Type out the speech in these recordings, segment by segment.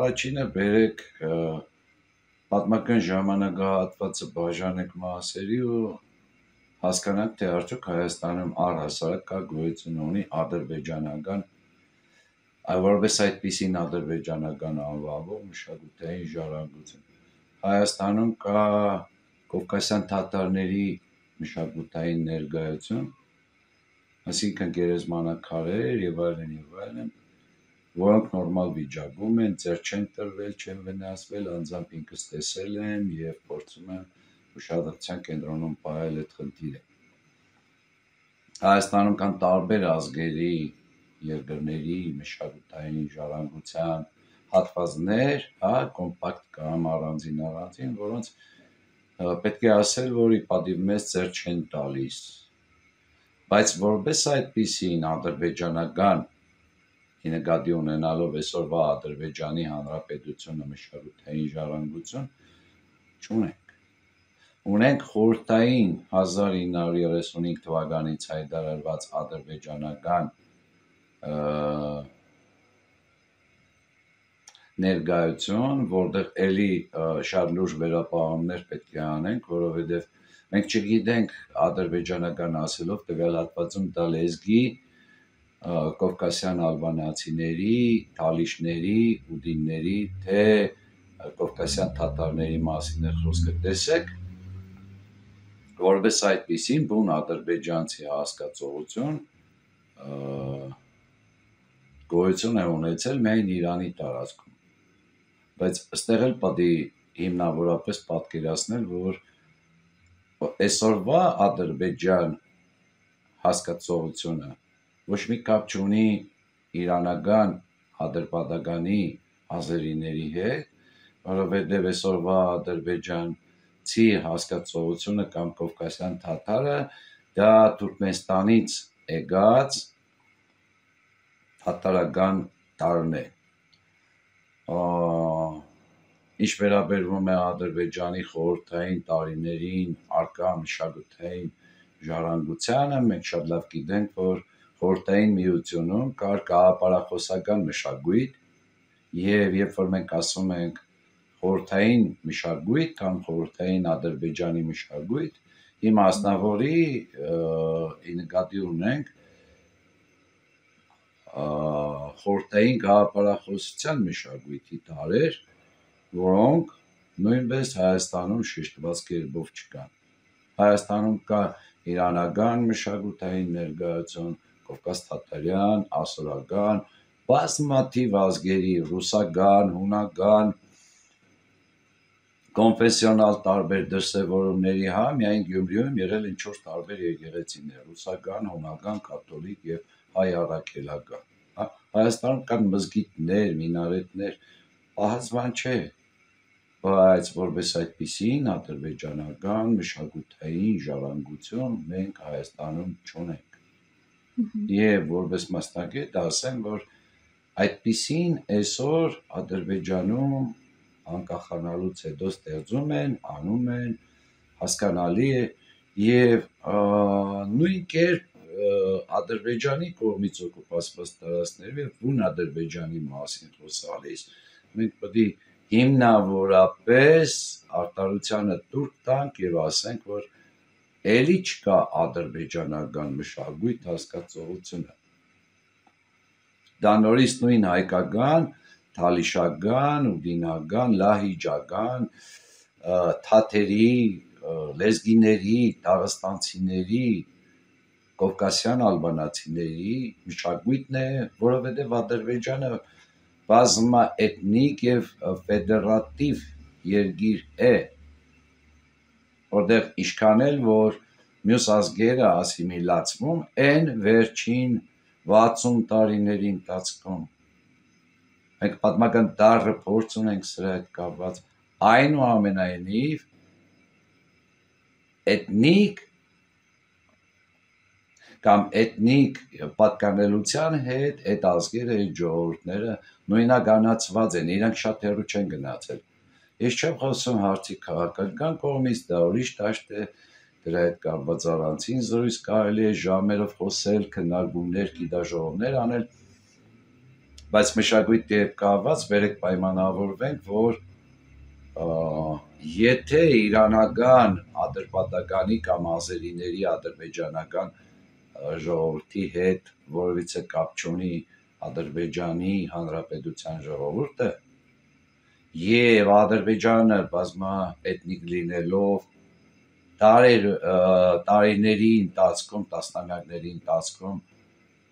առաջինը բերեք պատմական ժամանակահատվածը բաժանեք մասերի ու հասկանանք, թե արդյոք Հայաստանում առհասարակ կա գոյություն ունի ադրբեջանական, որպես այդպիսին ադրբեջանական անվանվող մշակութային ժառանգություն։ Հայաստանում կա կովկասյան թաթարների մշակութային ներկայություն, այսինքն գերեզմանակարեր եւ այլն, որոնք նորմալ վիճակում են, ձեռ չեն տրվել, չեն վնասվել, անձամբ ինքս տեսել եմ եւ փորձում եմ ուշադրության կենտրոնում պահել այդ խնդիրը։ Հայաստանում կան տարբեր ազգերի, երկրների մշակութային ժառանգության հատվածներ, կոմպակտ կամ առանձին, որոնց պետք է ասել, որ ի պատիվ մեզ ձեռ չեն տալիս, բայց որպես այդպիսին ադրբեջանական, նկատի ունենալով այսօրվա Ադրբեջանի Հանրապետությունը մշակութային ժառանգություն չունենք։ Ունենք խորհրդային 1935 թվականից հայտարարված ադրբեջանական ներկայություն, որտեղ էլի շատ լուրջ վերապահումներ պետք է անենք, որովհետև մենք չգիտենք ադրբեջանական ասելով տվյալ հատվածում դա լեզգի կովկասյան ալբանացիների, թալիշների, ուդինների, թե կովկասյան թաթարների մասին է խոսքը, տեսեք, որպես այդպիսին բուն ադրբեջանցի հասկացողություն գոյություն է ունեցել միայն Իրանի տարածքում, բայց այստեղ էլ պետք է հիմնավորապես պատկերացնել, որ այսօրվա Ադրբեջան հասկացողությունը ոչ մի կապ չունի իրանական ադրբեջանի ազերիների հետ, որովհետև այսօրվա ադրբեջանցի հասկացողությունը կամ կովկասյան թաթարը դա Թուրքմենստանից եկած թաթարական տարրն է։ Ինչ վերաբերվում է Ադրբեջանի խորհրդային տարիներին արկա մշակութային ժառանգությանը, մենք շատ լավ գիտենք, որ խորհրդային միությունում կար գաղափարախոսական մշակույթ, եւ երբ որ մենք ասում ենք խորհրդային մշակույթ կամ խորհրդային Ադրբեջանի մշակույթ, հիմա մասնավորի նկատի ունենք խորհրդային գաղափարախոսության մշակույթի տարրեր, որոնք նույնպես Հայաստանում շեշտված կերպով չկան։ Հայաստանում կա իրանական մշակութային ներկայություն, կովկաս-թաթարյան, ասորական, բազմաթիվ ազգերի, ռուսական, հունական, կոնֆեսիոնալ տարբեր դրսևորումների, միայն Գյումրիում եղել են 4 տարբեր եկեղեցիներ՝ ռուսական, հունական, կաթոլիկ եւ հայ առաքելական։ Հայաստանում կան մզգիթներ, մինարետներ, պահած բան չէ, բայց որպես այդպիսին ադրբեջանական մշակութային ժառանգություն մենք Հայաստանում չունենք։ Եվ որպես մասնագետ ասեմ, որ այդպիսին այսօր Ադրբեջանում անկախանալուց հետո ստեղծում են, անում են, հասկանալի է եւ նույն կերպ Ադրբեջանի կողմից օկուպացված տարածքներում եւ բուն Ադրբեջանի մասին խոսալիս մենք պետք է հիմնավորապես արտարությանը տուր տանք եւ ասենք, որ էլի չկա ադրբեջանական մշակույթ հասկացողությունը։ Դա նորից նույն հայկական, թալիշական, ուդինական, լահիջական, թաթերի, լեզգիների, դաղստանցիների, կովկասյան ալբանացիների մշակույթն է, որովհետև Ադրբեջանը բազմաէթնիկ եւ ֆեդերատիվ երկիր է, որտեղ ինչքան էլ որ մյուս ազգերը ասիմիլացվում են վերջին 60 տարիների ընթացքում, մենք պատմական դառը փորձ ունենք սրա հետ կապված, այնուամենայնիվ էթնիկ կամ էթնիկ պատկանելության հետ այդ ազգերը, այդ ժողովուրդները նույնականացված են, իրանք շատ հեռու չեն գնացել։ Ես չեմ խոսում հարցի քաղաքական կողմից, դա ուրիշ դաշտ է, դրա հետ կապված առանցին զրույց կարելի է ժամերով խոսել, քննարկումներ, գիտաժողովներ անել, բայց մշակույթի հետ կապված բերեք պայմանավորվենք, որ եթե իրանական ադրբեջանի կամ ազերիների ադրբեջանական ժողովրդի հետ որևիցե կապ չունի Ադրբեջանի Հանրապետության ժողովուրդը եւ Ադրբեջանը բազմաէթնիկ լինելով տարիների ընթացքում, տասնամյակների ընթացքում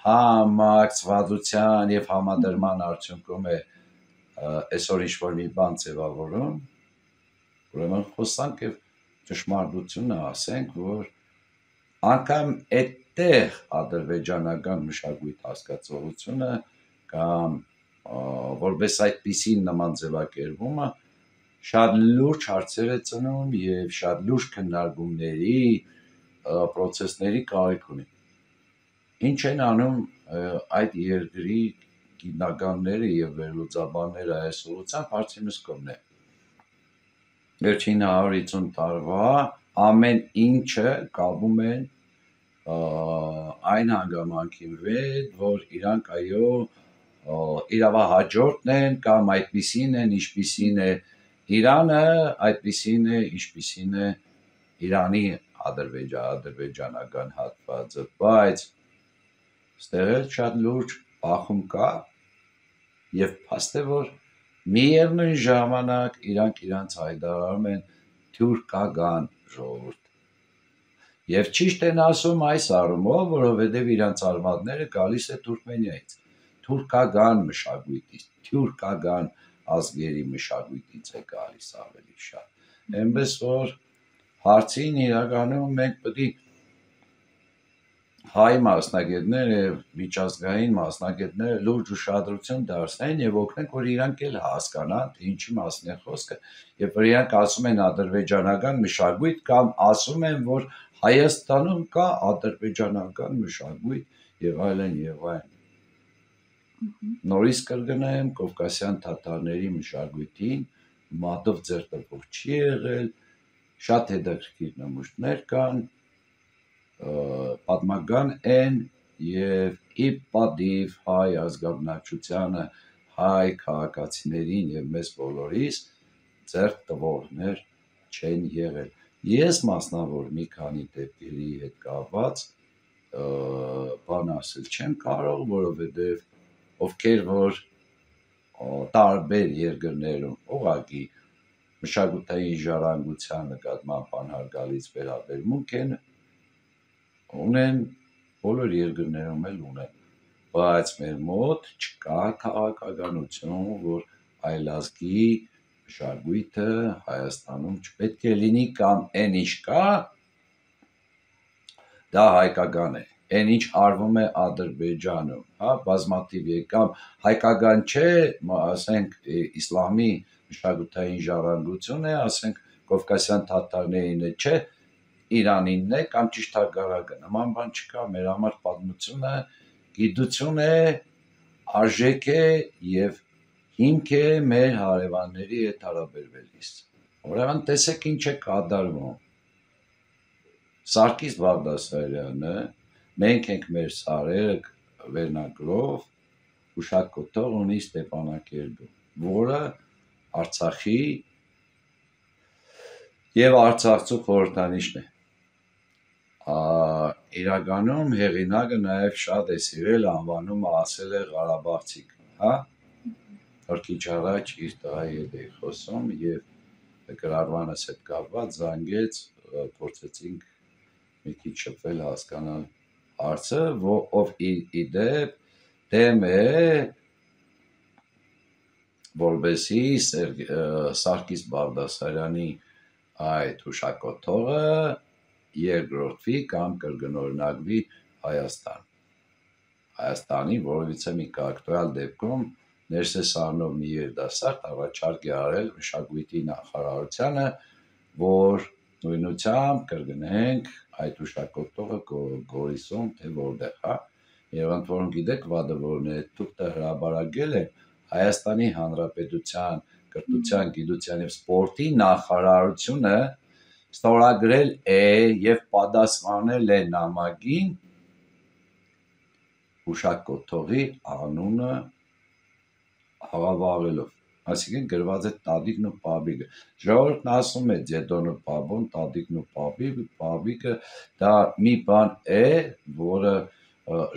համակցվածության եւ համադրման արդյունքում է այսօր ինչ-որ մի բան ձևավորում, ուրեմն խոսանք եւ ճշմարտությունը ասենք, որ անգամ այդտեղ ադրբեջանական մշակույթ հասկացողությունը կամ որպես այդպիսին նման ձևակերպումը շատ լուրջ հարցեր է ծնում եւ շատ լուրջ քննարկումների process-ների կարիք ունի։ Ինչ են անում այդ երկրի գիտնականները եւ վերլուծաբանները այս ուղղությամբ հարցի մսկումն է։ Վերջին 150 տարվա ամեն ինչը կապում են այն հանգամանքի հետ, որ իրանք այո իրավահաջորդն են կամ այդպիսին են, ինչպիսին է Իրանը, այդպիսին է, ինչպիսին է Իրանի ադրբեջանական հատվածը, բայց ստեղ էլ շատ լուրջ բախում կա եւ փաստ է, որ միևնույն ժամանակ իրանք իրանց հայտարարում են թուրքական ժողովուրդ։ Եվ ճիշտ են ասում այս առումով, որովհետև իրանց արմատները գալիս է Թուրքմենիայից, թուրքական մշակույթից, թուրքական ազգերի մշակույթից է գալիս ավելի շատ։ Այնպես որ հարցին իրականում մենք պետք է հայ մասնագետներ եւ միջազգային մասնագետներ լուրջ ուշադրություն դարձնեն եւ օգնեն, որ իրանք էլ հասկանան, թե ինչի մասին է խոսքը, եւ որ իրանք ասում են ադրբեջանական մշակույթ կամ ասում են, որ Հայաստանում կա ադրբեջանական մշակույթ եւ այլն եւ այլն։ Նորից կրկնեմ, կովկասյան թաթարների մշակույթին մատով ձեռտվող չի եղել, շատ հետաքրքիր նմուշներ կան, պատմական են եւ ի պատիվ հայ ազգաբնակչությանը, հայ քաղաքացիներին եւ մեզ բոլորիս ձեռք տվողներ չեն եղել։ Ես մասնավոր մի քանի դեպքերի հետ կապված բան ասել չեմ կարող, որովհետեւ ովքեր որ տարբեր երկրներում ուղղակի մշակութային ժառանգության նկատմամբ անհարգալից վերաբերմունք ունեն, բոլոր երկրներում էլ ունեն, բայց մեր մոտ չկա քաղաքականություն, որ այլազգի մշակույթը Հայաստանում չպետք է լինի կամ այն ինչ կա, դա հայկական է, այն ինչ արվում է Ադրբեջանում, հա, բազմաթիվ կամ հայկական չէ, ասենք իսլամի մշակութային ժառանգություն է, ասենք կովկասյան թաթարներին է, չէ, Իրանինն է կամ ճիշտ հակառակը, նման բան չկա, մեր համար պատմությունը գիտություն է, արժեք է եւ հիմք է մեր հարևանների հետ հարաբերվելիս։ Ուրեմն տեսեք ինչ է կատարվում։ Սարգիս Բաղդասարյանը, մենք ենք մեր սարերը վերնագրով հուշակոթող ունի Ստեփանակերտում, որը Արցախի եւ Արցախցու խորհրդանիշն է։ Իրականում հեղինակը նաև շատ է սիրել անվանումը ասել է Ղարաբաղցիք, հա, որ քիչ առաջ իր տղայի հետ էի խոսում եւ գրառմանս հետ կապված զանգեց, փորձեցինք մի քիչ շփվել հասկանալ հարցը, ով իդեպ դեմ է որբեսի Սարգիս Բաղդասարյանի այդ հուշակոթողը երկրորդվի կամ կրկնօրինակվի Հայաստանի որևիցե մի ակտուալ դեպքում Ներսես Արնով մի երիտասարդ առաջարկ է արել մշակույթի նախարարությանը, որ նույնությամբ կրկնենք այդ հուշակոթողը Գորիսում թե որտեղ, հա, եւ ընդ որում գիտեք վադը որն է, թուղթը հրաբարակել է Հայաստանի Հանրապետության կրթության, գիտության եւ սպորտի նախարարությունը ստորագրել է եւ պատասխանել է նամակին հուշակոթողի անունը հաղավաղելով, այսինքն գրված է տատիկն ու պապիկը, ժողովուրդն ասում է ձեդոնը պապոն, տատիկն ու պապիկը, դա մի բան է, որը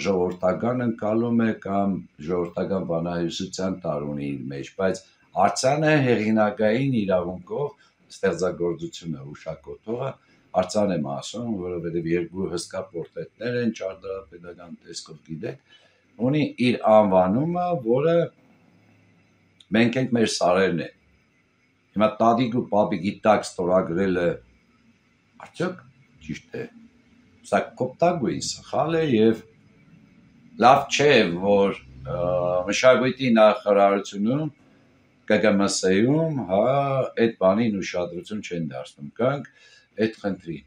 ժողովրդական ընկալում է կամ ժողովրդական բանահյուսության տար ունի իր մեջ, բայց արձանը հեղինակային իրավունքով ստեղծագործությունը հուշակոթողը արձան եմ ասում, որովհետև երկու հսկա պորտրետներ են ճարտարապետական տեսքով գիտեք, ունի իր անվանումը, որը մենք ենք մեր սարերն են։ Հիմա տատիկ ու պապիկ իտակ ստորագրելը արդյոք ճիշտ է։ Սա կոպտագույն սխալ է եւ լավ չէ, որ մշակույթի նախարարությունում ԿԿՄՍ-ում, հա, այդ բանին ուշադրություն չեն դարձնում։ Գանք այդ խնդրին։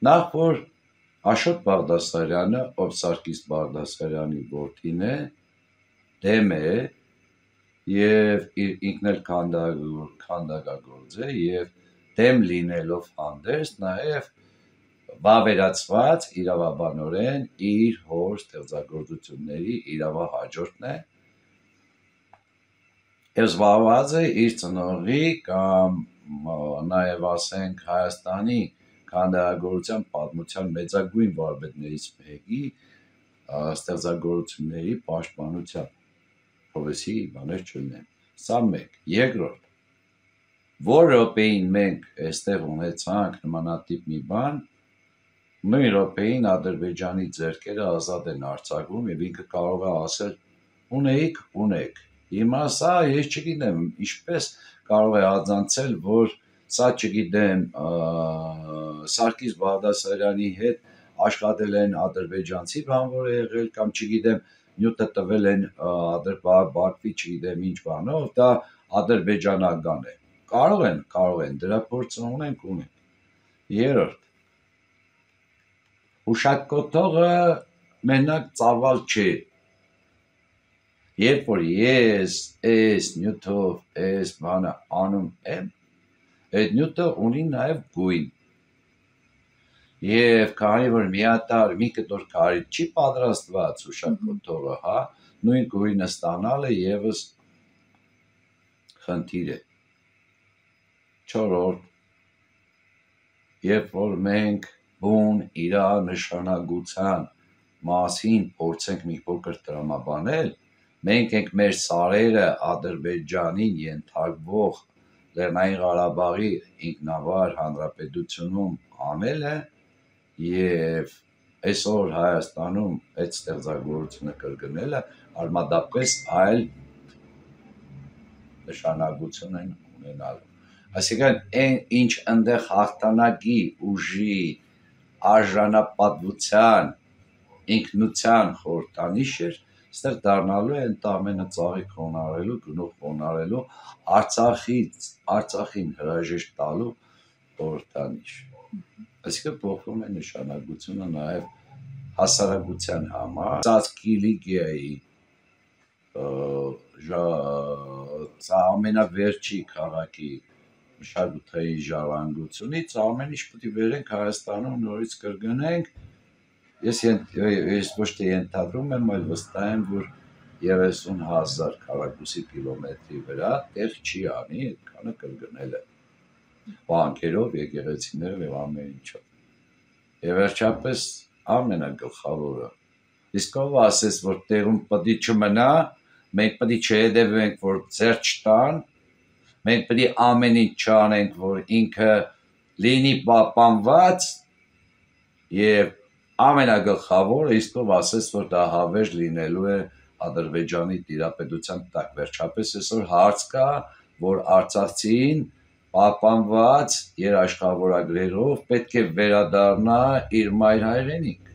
Նախ որ Աշոտ Բաղդասարյանը, ով Սարգիս Բաղդասարյանի որդին է, դեմ է եւ ինքն էլ քանդակագործ է եւ դեմ լինելով հանդերձ նաեւ վավերացված իրավաբանորեն իր հոր ստեղծագործությունների իրավահաջորդն է եւ զբաղված է իր ծնողի կամ նաեւ ասենք Հայաստանի քանդակագործության պատմության մեծագույն վարպետներից մեկի ստեղծագործությունների պաշտպանությամբ փողոցի բաներ չունեն։ Սա մեկ։ Երկրորդ, որ րոպեին մենք այստեղ ունեցանք նմանատիպ մի բան, նույն րոպեին Ադրբեջանի ձեռքերը ազատ են արձակվում եւ ինքը կարող է ասել ունեք։ Հիմա սա ես չգիտեմ ինչպես կարող է աջակցել, որ սա չգիտեմ Սարգիս Բաղդասարյանի հետ աշխատել են ադրբեջանցի բանվոր է եղել կամ չգիտեմ նյութը տվել են Բաքվի չգիտեմ ինչ բանով, դա ադրբեջանական է։ Կարող են, դրա փորձը ունենք։ Երրորդ, հուշակոթողը մենակ ծավալ չէ։ Երբ որ ես այս նյութով այս բանը անում եմ, այդ նյութը ունի նաև գույն։ Եվ քանի որ մի կտոր քարից չի պատրաստված հուշակոթողը, հա, նույն գույնը ստանալը եւս խնդիր է։ Չորրորդ, երբ որ մենք բուն իրա նշանակության մասին փորձենք մի փոքր տրամաբանել, մենք ենք մեր սարերը Ադրբեջանին ենթարկվող Լեռնային Ղարաբաղի ինքնավար հանրապետությունում անելը եւ այսօր Հայաստանում այդ ստեղծագործությունը կրկնելը արմատապես այլ նշանակություն են ունենալու։ Այսինքն այն ինչ այնտեղ հաղթանակի ուժի արժանապատվության ինքնության խորհրդանիշ էր, այստեղ դառնալու է ընդամենը ծաղիկ խոնարհելու, գնող խոնարհելու, Արցախին հրաժեշտ տալու խորհրդանիշ։ Այսինքն փոխվում է նշանակությունը նաև հասարակության համար, Ծածկիլիգիայի սա ամենավերջի քաղաքի մշակութային ժառանգությունից ամեն ինչ պետք է վերենք Հայաստանում նորից կրկնենք։ Ես ոչ թե ենթադրում եմ, այլ վստահ եմ, որ 30,000 քառակուսի կիլոմետրի վրա տեղ չի անի այդքանը կրկնելը բանկերով, եկեղեցիներով եւ ամեն ինչով։ Եվ վերջապես ամենագլխավորը, իսկ ով ասես, որ տեղում պետք է չմնա, մենք պետք է չհետևենք, որ ձեռ չտան, մենք պետք է ամեն ինչ չանենք, որ ինքը լինի պահպանված եւ ամենագլխավորը, իսկ ով ասես, որ դա հավերժ լինելու է Ադրբեջանի տիրապետության տակ։ Վերջապես այսօր հարց կա, որ արցախցին պահպանված երաշխավորագրերով պետք է վերադառնա իր մայր հայրենիք։